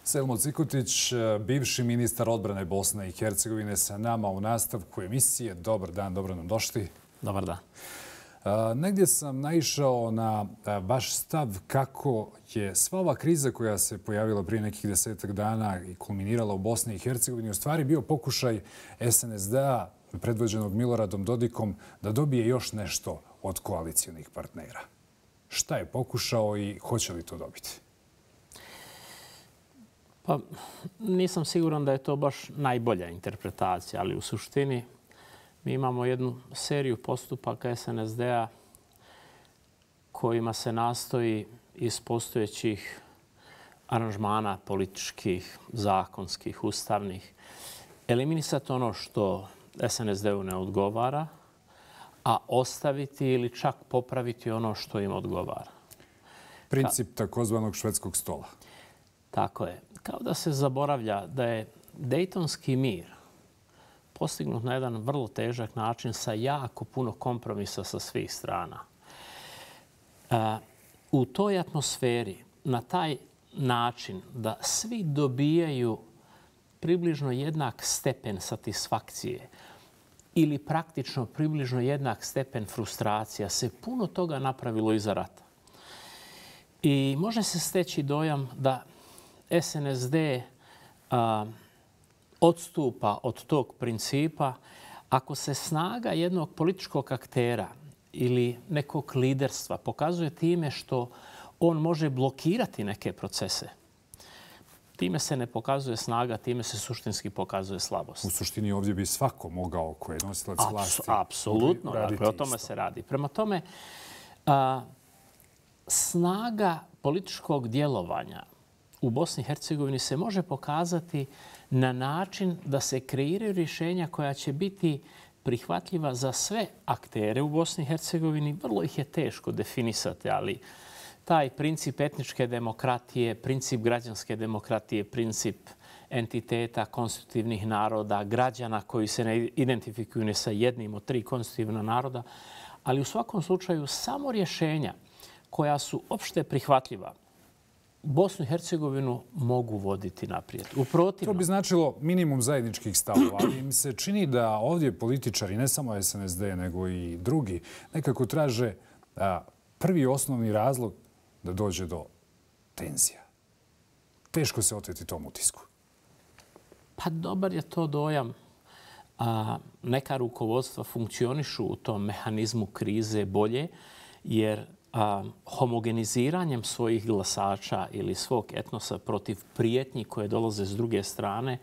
Selmo Cikotić, bivši ministar odbrane Bosne i Hercegovine, sa nama u nastavku emisije. Dobar dan, dobro nam došli. Dobar dan. Negdje sam naišao na vaš stav kako je sva ova kriza koja se pojavila prije nekih 10 dana i kulminirala u Bosni i Hercegovini u stvari bio pokušaj SNSD-a predvođenog Miloradom Dodikom da dobije još nešto od koalicijonih partnera. Šta je pokušao i hoće li to dobiti? Pa nisam siguran da je to baš najbolja interpretacija, ali u suštini mi imamo jednu seriju postupaka SNSD-a kojima se nastoji iz postojećih aranžmana političkih, zakonskih, ustavnih eliminisati ono što SNSD-u ne odgovara, a ostaviti ili čak popraviti ono što im odgovara. Princip takozvanog švedskog stola. Tako je. Kao da se zaboravlja da je Dejtonski mir postignut na jedan vrlo težak način sa jako puno kompromisa sa svih strana. U toj atmosferi, na taj način da svi dobijaju približno jednak stepen satisfakcije ili praktično približno jednak stepen frustracija, se puno toga napravilo iza rata. I može se steći dojam da SNSD odstupa od tog principa ako se snaga jednog političkog aktera ili nekog liderstva pokazuje time što on može blokirati neke procese. Time se ne pokazuje snaga, time se suštinski pokazuje slabost. U suštini ovdje bi svako mogao ko je nosilac vlasti. Apsolutno, dakle, o tome se radi. Prema tome, snaga političkog djelovanja u Bosni i Hercegovini se može pokazati na način da se kreiraju rješenja koja će biti prihvatljiva za sve aktere u Bosni i Hercegovini. Vrlo ih je teško definisati, ali taj princip etničke demokratije, princip građanske demokratije, princip entiteta konstitutivnih naroda, građana koji se ne identifikuju ne sa jednim od 3 konstitutivna naroda, ali u svakom slučaju samo rješenja koja su opšte prihvatljiva Bosnu i Hercegovinu mogu voditi naprijed. To bi značilo minimum zajedničkih stavova, ali mi se čini da ovdje političari, ne samo SNSD, nego i drugi, nekako traže prvi osnovni razlog da dođe do tenzija. Teško se oteti tom utisku. Pa dobar je to dojam. Neka rukovodstva funkcionišu u tom mehanizmu krize bolje, jer homogeniziranjem svojih glasača ili svog etnosa protiv prijetnji koje dolaze s druge strane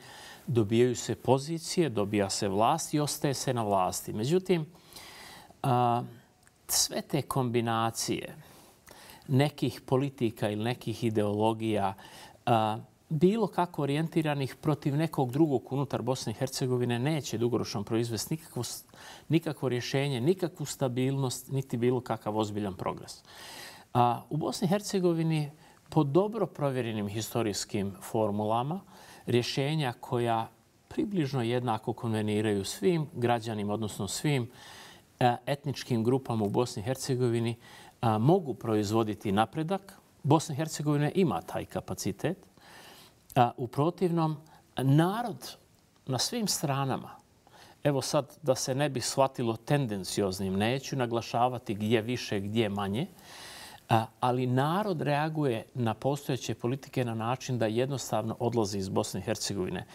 dobijaju se pozicije, dobija se vlast i ostaje se na vlasti. Međutim, sve te kombinacije nekih politika ili nekih ideologija, bilo kako orijentiranih protiv nekog drugog unutar Bosne i Hercegovine, neće dugoročno proizvesti nikakvo rješenje, nikakvu stabilnost, niti bilo kakav ozbiljan progres. U Bosni i Hercegovini po dobro provjerenim historijskim formulama rješenja koja približno jednako konveniraju svim građanima, odnosno svim etničkim grupama u Bosni i Hercegovini, mogu proizvoditi napredak. Bosna i Hercegovina ima taj kapacitet. U protivnom, narod na svim stranama, evo sad da se ne bi shvatilo tendencioznim, neću naglašavati gdje više, gdje manje, ali narod reaguje na postojeće politike na način da jednostavno odlazi iz Bosne i Hercegovine.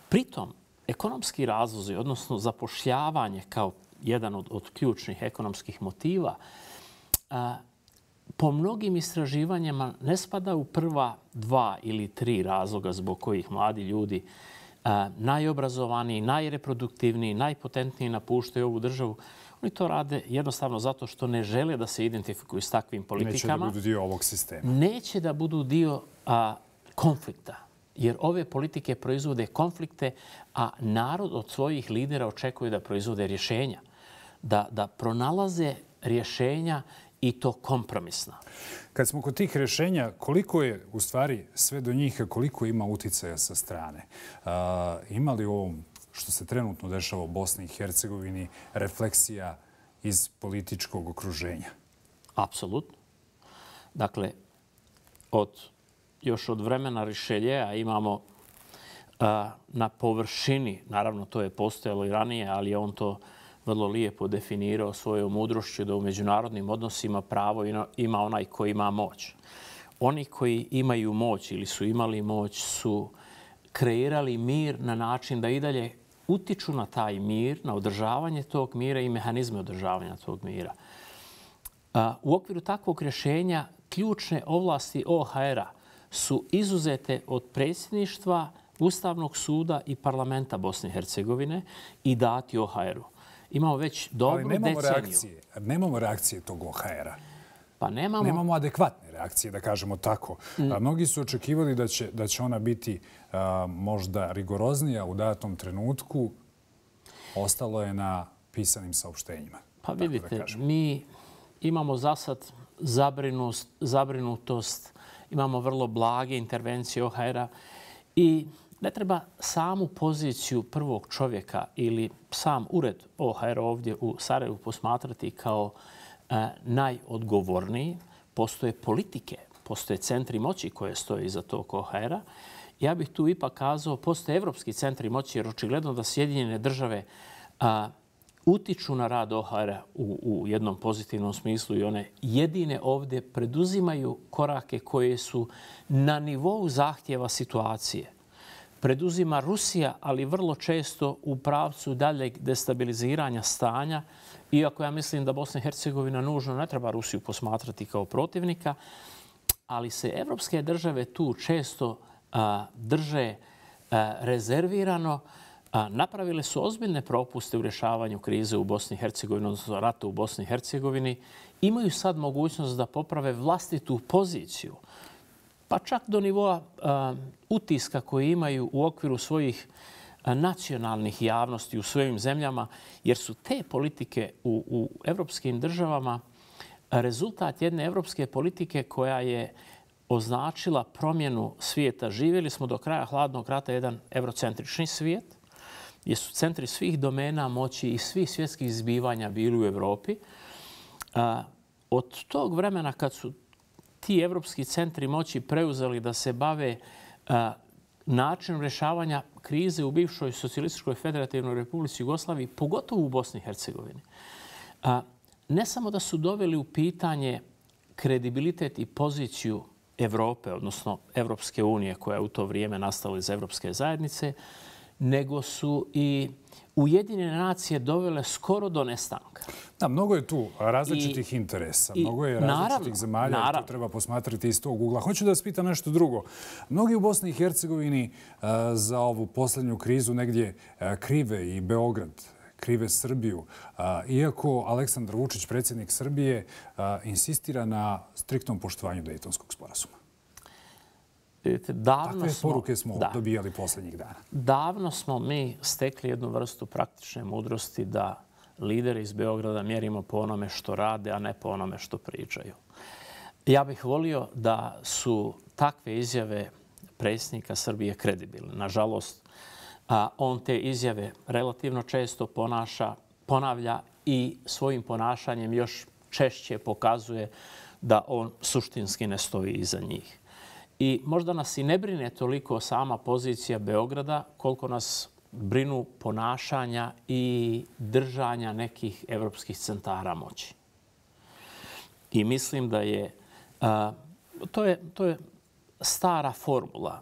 Pritom, ekonomski razlozi, odnosno zapošljavanje kao jedan od ključnih ekonomskih motiva, po mnogim istraživanjima ne spada u prva 2 ili 3 razloga zbog kojih mladi ljudi najobrazovaniji, najreproduktivniji, najpotentniji napuštaju ovu državu. Oni to rade jednostavno zato što ne žele da se identifikuju s takvim politikama. Neće da budu dio ovog sistema. Neće da budu dio konflikta. Jer ove politike proizvode konflikte, a narod od svojih lidera očekuje da proizvode rješenja. Da pronalaze rješenja i to kompromisno. Kad smo kod tih rješenja, koliko je u stvari sve do njih, koliko ima uticaja sa strane? Ima li u ovom što se trenutno dešava u Bosni i Hercegovini refleksija iz političkog okruženja? Apsolutno. Dakle, od još od vremena Rišeljeja imamo na površini, naravno to je postojalo i ranije, ali je on to vrlo lijepo definirao svojom mudrošću da u međunarodnim odnosima pravo ima onaj koji ima moć. Oni koji imaju moć ili su imali moć su kreirali mir na način da i dalje utiču na taj mir, na održavanje tog mira i mehanizme održavanja tog mira. U okviru takvog rješenja ključne ovlasti OHR-a su izuzete od predsjedništva, Ustavnog suda i parlamenta Bosne i Hercegovine i dati OHR-u. Imamo već dobru deceniju. Nemamo reakcije tog OHR-a. Pa nemamo adekvatne reakcije, da kažemo tako. Mnogi su očekivali da će ona biti možda rigoroznija u datom trenutku. Ostalo je na pisanim saopštenjima. Pa vidite, mi imamo za sad zabrinutost, imamo vrlo blage intervencije OHR-a i ne treba samu poziciju prvog čovjeka ili sam ured OHR ovdje u Sarajevu posmatrati kao najodgovorniji. Postoje politike, postoje centri moći koje stoje iza tog OHR-a. Ja bih tu ipak kazao, postoje evropski centri moći jer očigledno da Sjedinjene države utiču na rad OHR-a u jednom pozitivnom smislu i one jedine ovdje preduzimaju korake koje su na nivou zahtjeva situacije. Preduzima Rusija, ali vrlo često u pravcu daljeg destabiliziranja stanja, iako ja mislim da Bosna i Hercegovina nužno ne treba Rusiju posmatrati kao protivnika, ali se evropske države tu često drže rezervirano. Napravile su ozbiljne propuste u rješavanju krize u Bosni i Hercegovini, odnosno rata u Bosni i Hercegovini. Imaju sad mogućnost da poprave vlastitu poziciju, pa čak do nivoa utiska koji imaju u okviru svojih nacionalnih javnosti u svojim zemljama, jer su te politike u evropskim državama rezultat jedne evropske politike koja je označila promjenu svijeta. Živjeli smo do kraja hladnog rata jedan eurocentrični svijet, gdje su centri svih domena moći i svih svjetskih zbivanja bili u Evropi. Od tog vremena kad su ti evropski centri moći preuzeli da se bave načinom rješavanja krize u bivšoj socijalističkoj federativnoj Republici Jugoslaviji, pogotovo u Bosni i Hercegovini, ne samo da su doveli u pitanje kredibilitet i poziciju Evrope, odnosno Evropske unije koja je u to vrijeme nastala iz Evropske zajednice, nego su i Ujedinjene nacije dovele skoro do nestanka. Da, mnogo je tu različitih interesa, mnogo je različitih zemalja, to treba posmatrati iz tog ugla. Hoću da vas pitam nešto drugo. Mnogi u Bosni i Hercegovini za ovu posljednju krizu negdje krive i Beograd, krive Srbiju. Iako Aleksandar Vučić, predsjednik Srbije, insistira na striktnom poštovanju Dejtonskog sporazuma. Takve poruke smo dobijali posljednjih dana. Davno smo mi stekli jednu vrstu praktične mudrosti da lideri iz Beograda mjerimo po onome što rade, a ne po onome što pričaju. Ja bih volio da su takve izjave predsjednika Srbije kredibilne. Nažalost, on te izjave relativno često ponavlja i svojim ponašanjem još češće pokazuje da on suštinski ne stoji iza njih. I možda nas i ne brine toliko sama pozicija Beograda koliko nas brinu ponašanja i držanja nekih evropskih centara moći. I mislim da je to je stara formula.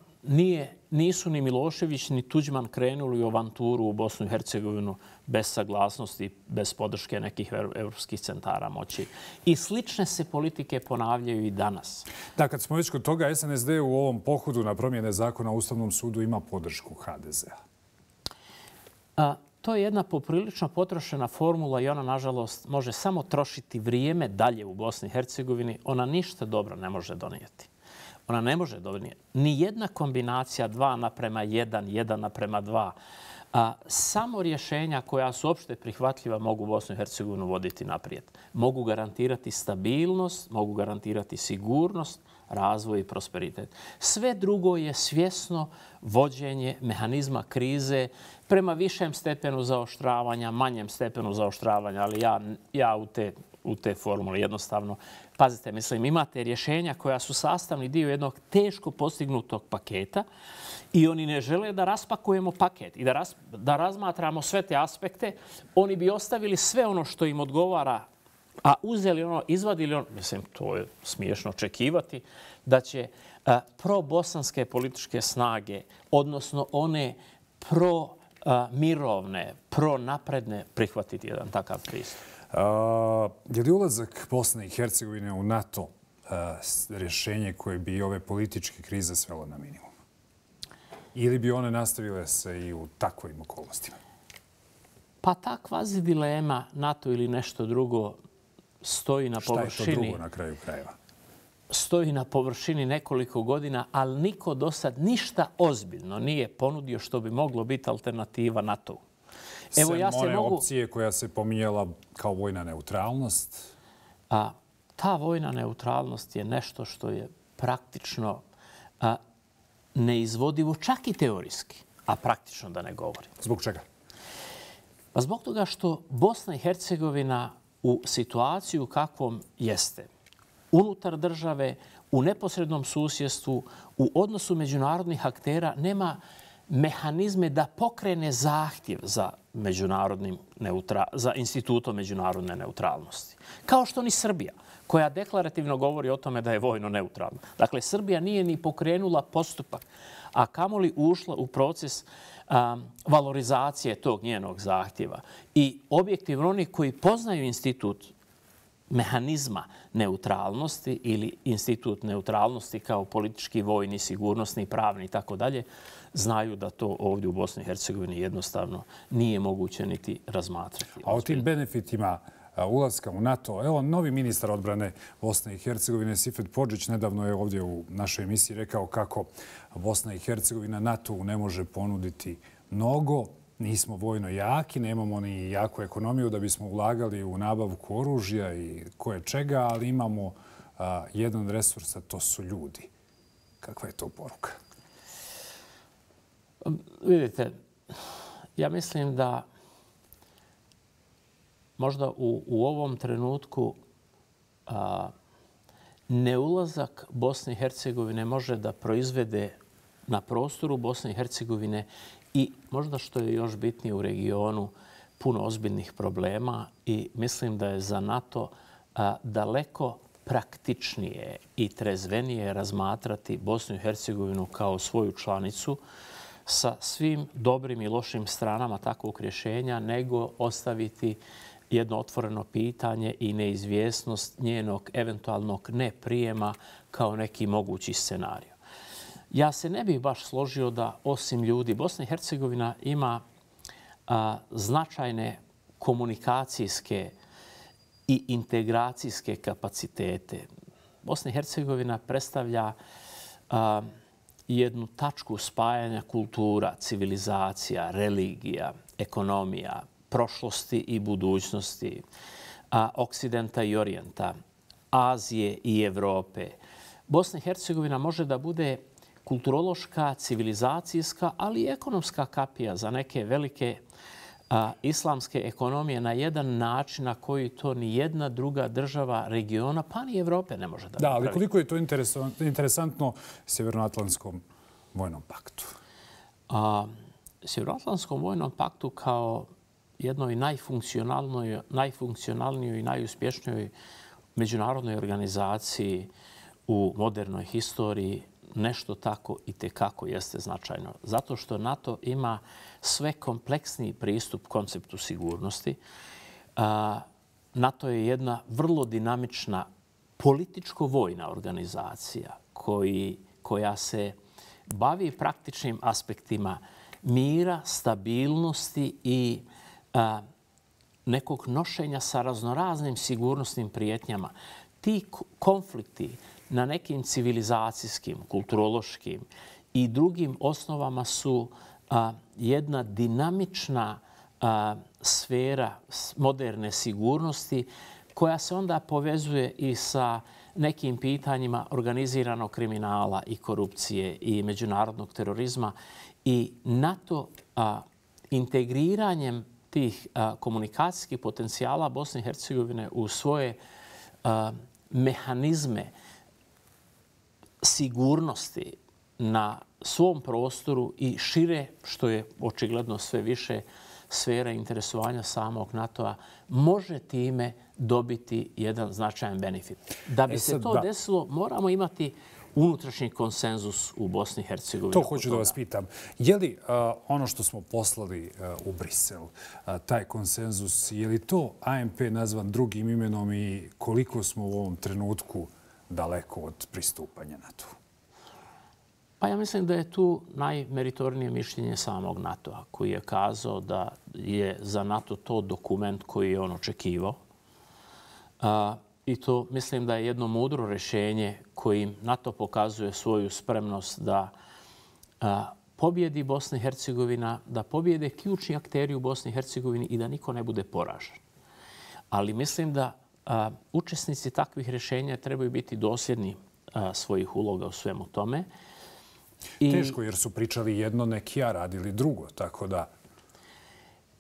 Nisu ni Milošević ni Tuđman krenuli u avanturu u Bosnu i Hercegovinu bez saglasnosti, bez podrške nekih evropskih centara moći. I slične se politike ponavljaju i danas. Da, kad smo već kod toga, SNSD u ovom pohodu na promjene zakona u Ustavnom sudu ima podršku HDZ-a. To je jedna poprilično potrošena formula i ona, nažalost, može samo trošiti vrijeme dalje u Bosni i Hercegovini. Ona ništa dobro ne može donijeti. Ona ne može donijeti. Nijedna kombinacija 2:1, 1:2. Samo rješenja koja su opšte prihvatljiva mogu Bosnu i Hercegovinu voditi naprijed. Mogu garantirati stabilnost, mogu garantirati sigurnost, razvoj i prosperitet. Sve drugo je svjesno vođenje mehanizma krize prema višem stepenu zaoštravanja, manjem stepenu zaoštravanja, ali ja u te formule. Jednostavno, pazite, mislim, imate rješenja koja su sastavni dio jednog teško postignutog paketa i oni ne žele da raspakujemo paket i da razmatramo sve te aspekte. Oni bi ostavili sve ono što im odgovara, a uzeli ono, izvadili ono. Mislim, to je smiješno očekivati da će pro-bosanske političke snage, odnosno one pro-mirovne, pro-napredne prihvatiti jedan takav pristup. Je li ulazak Bosne i Hercegovine u NATO rješenje koje bi ove političke krize svelo na minimum? Ili bi one nastavile se i u takvim okolnostima? Pa ta kvazi dilema NATO ili nešto drugo stoji na površini. Šta je to drugo na kraju krajeva? Stoji na površini nekoliko godina, ali niko do sad ništa ozbiljno nije ponudio što bi moglo biti alternativa NATO-u. Evo, ja se mogu... opcije koja se pominjala kao vojna neutralnost? Ta vojna neutralnost je nešto što je praktično neizvodivo, čak i teorijski, a praktično da ne govorim. Zbog čega? Pa zbog toga što Bosna i Hercegovina u situaciju kakvom jeste, unutar države, u neposrednom susjedstvu, u odnosu međunarodnih aktera, nema mehanizme da pokrene zahtjev za institutom međunarodne neutralnosti. Kao što ni Srbija, koja deklarativno govori o tome da je vojno neutralna. Dakle, Srbija nije ni pokrenula postupak, a kamoli ušla u proces valorizacije tog njenog zahtjeva. I objektivno oni koji poznaju institut mehanizma neutralnosti ili institut neutralnosti kao politički, vojni, sigurnosni, pravni i tako dalje, znaju da to ovdje u Bosni i Hercegovini jednostavno nije moguće niti razmatrati. A o tim benefitima ulaska u NATO, evo, novi ministar odbrane Bosne i Hercegovine, Sifet Podžić, nedavno je ovdje u našoj emisiji rekao kako Bosna i Hercegovina NATO ne može ponuditi mnogo. Nismo vojno jaki, nemamo ni jaku ekonomiju da bismo ulagali u nabavku oružja i koje čega, ali imamo jedan resurs, a to su ljudi. Kakva je to poruka? Vidite, ja mislim da možda u ovom trenutku neulazak Bosne i Hercegovine može da proizvede na prostoru Bosne i Hercegovine i možda što je još bitnije u regionu puno ozbiljnih problema i mislim da je za NATO daleko praktičnije i trezvenije razmatrati Bosnu i Hercegovinu kao svoju članicu sa svim dobrim i lošim stranama takvog rješenja, nego ostaviti jedno otvoreno pitanje i neizvjesnost njenog eventualnog neprijema kao neki mogući scenarij. Ja se ne bih baš složio da osim ljudi, Bosna i Hercegovina ima značajne komunikacijske i integracijske kapacitete. Bosna i Hercegovina predstavlja jednu tačku spajanja kultura, civilizacija, religija, ekonomija, prošlosti i budućnosti, Oksidenta i Orijenta, Azije i Evrope. Bosna i Hercegovina može da bude kulturološka, civilizacijska, ali i ekonomska kapija za neke velike islamske ekonomije na jedan način na koji to ni jedna druga država regiona, pa ni Evrope ne može da napravi. Da, ali koliko je to interesantno Sjevernoatlantskom vojnom paktu? Sjevernoatlantskom vojnom paktu kao jednoj najfunkcionalnijoj i najuspješnijoj međunarodnoj organizaciji u modernoj historiji nešto tako i tekako jeste značajno. Zato što NATO ima sve kompleksniji pristup konceptu sigurnosti. NATO je jedna vrlo dinamična političko-vojna organizacija koja se bavi praktičnim aspektima mira, stabilnosti i nekog nošenja sa raznoraznim sigurnosnim prijetnjama. Ti konflikti na nekim civilizacijskim, kulturološkim i drugim osnovama su jedna dinamična sfera moderne sigurnosti koja se onda povezuje i sa nekim pitanjima organiziranog kriminala i korupcije i međunarodnog terorizma. I NATO integriranjem tih komunikacijskih potencijala Bosne i Hercegovine u svoje mehanizme sigurnosti na svom prostoru i šire, što je očigledno sve više sfera interesovanja samog NATO-a, može time dobiti jedan značajan benefit. Da bi se to desilo, moramo imati unutrašnji konsenzus u Bosni i Hercegovini. To hoću da vas pitam. Je li ono što smo poslali u Brisel, taj konsenzus, je li to ANP nazvan drugim imenom i koliko smo u ovom trenutku daleko od pristupanja NATO-u? Pa ja mislim da je tu najmeritornije mišljenje samog NATO-a, koji je kazao da je za NATO to dokument koji je on očekivao. I to mislim da je jedno mudro rješenje kojim NATO pokazuje svoju spremnost da pobjedi Bosna i Hercegovina, da pobjede ključni akteri u Bosni i Hercegovini i da niko ne bude poražen. Ali mislim da učesnici takvih rješenja trebaju biti dosljedni svojih uloga u svemu tome. Teško, jer su pričali jedno, neki a radili drugo, tako da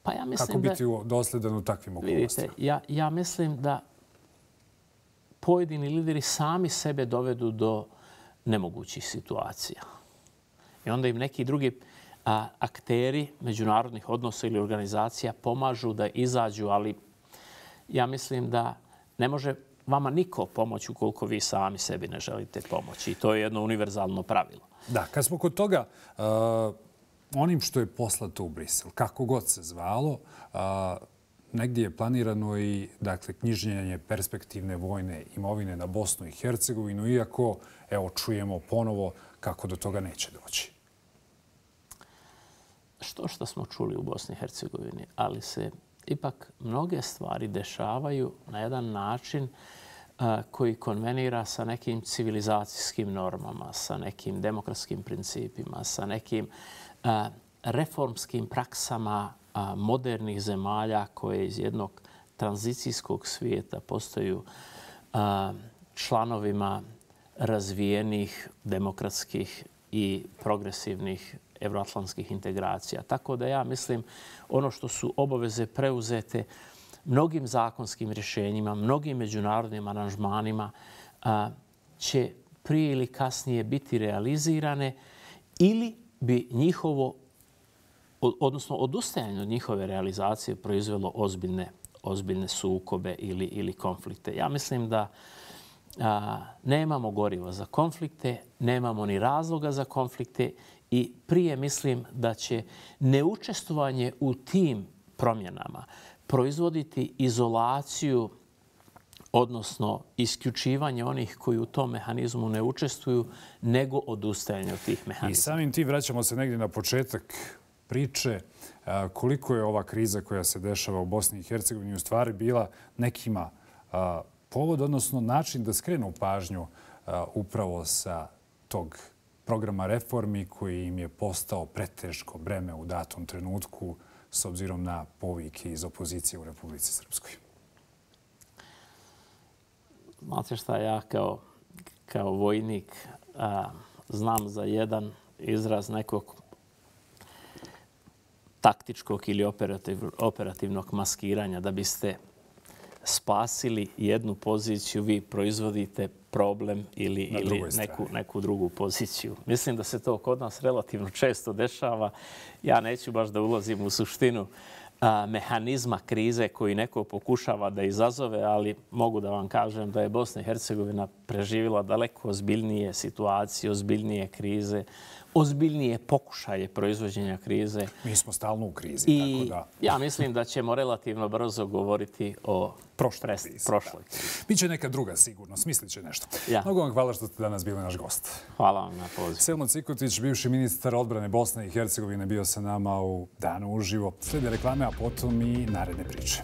pa ja mislim kako biti dosljedan u takvim okolnostima? Vidite, ja mislim da pojedini lideri sami sebe dovedu do nemogućih situacija. I onda im neki drugi akteri međunarodnih odnosa ili organizacija pomažu da izađu, ali ja mislim da ne može vama niko pomoći ukoliko vi sami sebi ne želite pomoći. I to je jedno univerzalno pravilo. Da, kad smo kod toga, onim što je poslato u Brisel, kako god se zvalo, negdje je planirano i knjiženje perspektivne vojne imovine na Bosnu i Hercegovinu, iako čujemo ponovo kako do toga neće doći. Što smo čuli u Bosni i Hercegovini, ali se ipak mnoge stvari dešavaju na jedan način koji konvenira sa nekim civilizacijskim normama, sa nekim demokratskim principima, sa nekim reformskim praksama modernih zemalja koje iz jednog tranzicijskog svijeta postaju članovima razvijenih demokratskih i progresivnih evroatlantskih integracija. Tako da ja mislim ono što su obaveze preuzete mnogim zakonskim rješenjima, mnogim međunarodnim aranžmanima će prije ili kasnije biti realizirane ili bi njihovo, odnosno odustajanje od njihove realizacije proizvelo ozbiljne sukobe ili konflikte. Ja mislim da nemamo goriva za konflikte, nemamo ni razloga za konflikte i prije mislim da će neučestvovanje u tim promjenama proizvoditi izolaciju, odnosno isključivanje onih koji u tom mehanizmu ne učestvuju, nego odustajanje od tih mehanizma. I samim tim vraćamo se negdje na početak priče koliko je ova kriza koja se dešava u Bosni i Hercegovini u stvari bila nekima povod, odnosno način da skrenu pažnju upravo sa tog programa reformi koji im je postao preteško breme u datom trenutku s obzirom na povike iz opozicije u Republici Srpskoj. Znate šta, ja kao vojnik znam za jedan izraz nekog taktičkog ili operativnog maskiranja. Da biste spasili jednu poziciju, vi proizvodite problem ili neku drugu poziciju. Mislim da se to kod nas relativno često dešava. Ja neću baš da ulazim u suštinu mehanizma krize koji neko pokušava da izazove, ali mogu da vam kažem da je Bosna i Hercegovina preživjela daleko ozbiljnije situacije, ozbiljnije krize, ozbiljnije pokušaje proizvođenja krize. Mi smo stalno u krizi, tako da. Ja mislim da ćemo relativno brzo govoriti o prošloj krizi. Biće neka druga sigurno, smislit će nešto. Mnogo vam hvala što ste danas bili naš gost. Hvala vam na pozivu. Selmo Cikotić, bivši ministar odbrane Bosne i Hercegovine, bio sa nama u Danu uživo. Slijede reklame, a potom i naredne priče.